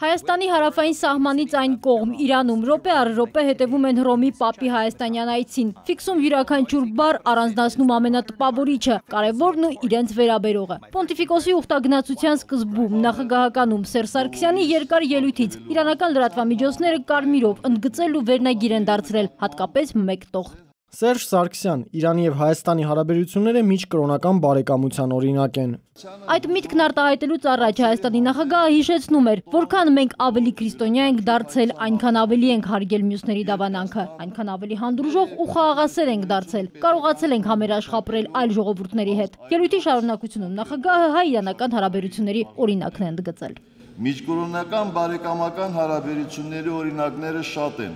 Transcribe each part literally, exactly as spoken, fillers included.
Հայաստանի հարավային սահմանից այն կողմ Իրանում րոպե առ րոպե հետևում են Հռոմի Պապի հայաստանյան այցին, ֆիքսում յուրաքանչյուր բառ, առանձնացնում ամենատպավորիչը, կարևորն ու իրենց վերաբերողը։ Պոնտիֆիկոսի ուխտագնացության սկզբում նախագահականում Սերժ Սարգսյանի երկար ելույթից իրանական լրատվամիջոցները կարմիրով ընդգծել ու վերնագիր են դարձրել, հատկապես մեկ տող։ Սերժ Սարգսյան, Իրանի եւ Հայաստանի հարաբերությունները միջկրոնական բարեկամության օրինակ են։ Այդ միտքն արտահայտելուց առաջ Հայաստանի նախագահը հիշեցնում էր, որքան մենք ավելի քրիստոնյա ենք դարձել, այնքան ավելի ենք հարգել մյուսների դավանանքը, այնքան ավելի հանդուրժող ու խաղաղասեր ենք դարձել, կարողացել ենք համերաշխապրել այլ ժողովուրդների հետ։ Ելույթի շարունակությունում նախագահը հայ-իրանական հարաբերությունների օրինակն է ընդգծել։ Միջկրոնական բարեկամական հարաբերությունների օրինակները շատ են։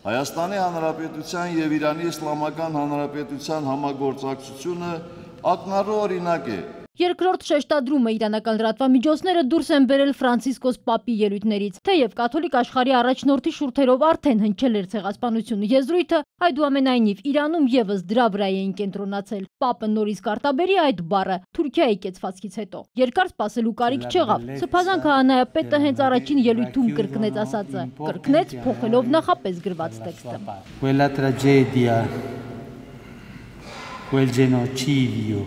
Հայաստանի Հանրապետության եւ Իրանի Իսլամական Հանրապետության համագործակցությունը ակնառու օրինակ է։ Երկրորդ շեշտադրումը իրանական լրատվամիջոցները դուրս են բերել Ֆրանցիսկոս Պապի ելույթներից, թեև կաթոլիկ աշխարհի առաջնորդի շուրթերով արդեն հնչել էր ցեղասպանություն եզրույթը, այդուամենայնիվ Իրանում եւս դրա վրա էին կենտրոնացել։ Պապը նորից կարտաբերի այդ բառը Թուրքիայի կեցվածքից հետո։ Երկար սպասելու կարիք չեղավ։ Սփազան քահանայապետը հենց առաջին ելույթում կրկնեց ասածը, կրկնեց փոխելով նախապես գրված տեքստը։ Quella tragedia, quel genocidio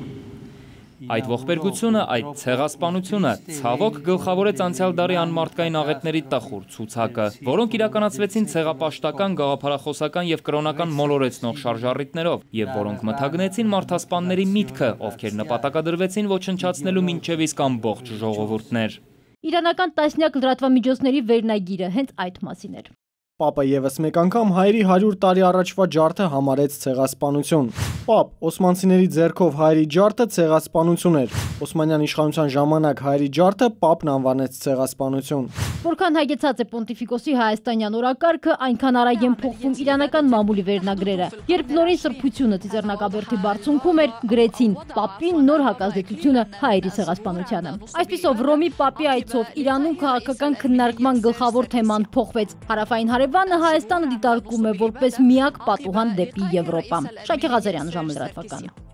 Այդ ողբերգությունը, այդ ցեղասպանությունը ցավոք գլխավորեց անցյալ դարի անմարդկային աղետների տխուր ցուցակը, որոնք իրականացվեցին ցեղապաշտական, գաղափարախոսական եւ կրոնական մոլորեցնող շարժառիթներով, եւ որոնք մթագնեցին մարդասպանների միտքը, ովքեր նպատակադրվեցին ոչնչացնելու մինչեւ իսկ ամբողջ ժողովուրդներ։ Իրանական տասնյակ լրատվամիջոցների վերնագիրը հենց այդ մասին էր։ Պապը եւս մեկ անգամ հայերի հարյուր տարի առաջվա ջարդը համարեց ցեղասպանություն։ Պապ, օսմանցիների ձեռքով հայերի ջարդը ցեղասպանություն էր։ Օսմանյան իշխանության ժամանակ հայերի ջարդը Պապն անվանեց ցեղասպանություն։ Որքան հագեցած է Պոնտիֆիկոսի հայաստանյան օրակարգը, այնքան արագ են փոխվում իրանական մամուլի վերնագրերը։ Երբ նորին սրբությունը Ծիծեռնակաբերդի բարձունքում էր, գրեցին Պապին նոր հակազդեցությունը հայերի ցեղասպանությանը։ Այսպիսով Հռոմի Պապի այցով Իրանում քաղաքական քննարկման գլխավոր թեման փոխվեց։ Հարավային հարևանը Հայաստանը դիտարկում է որպես միակ պատուհան դեպի Եվրոպա։ Շակե Ղազարյան, ժամը լրատվական։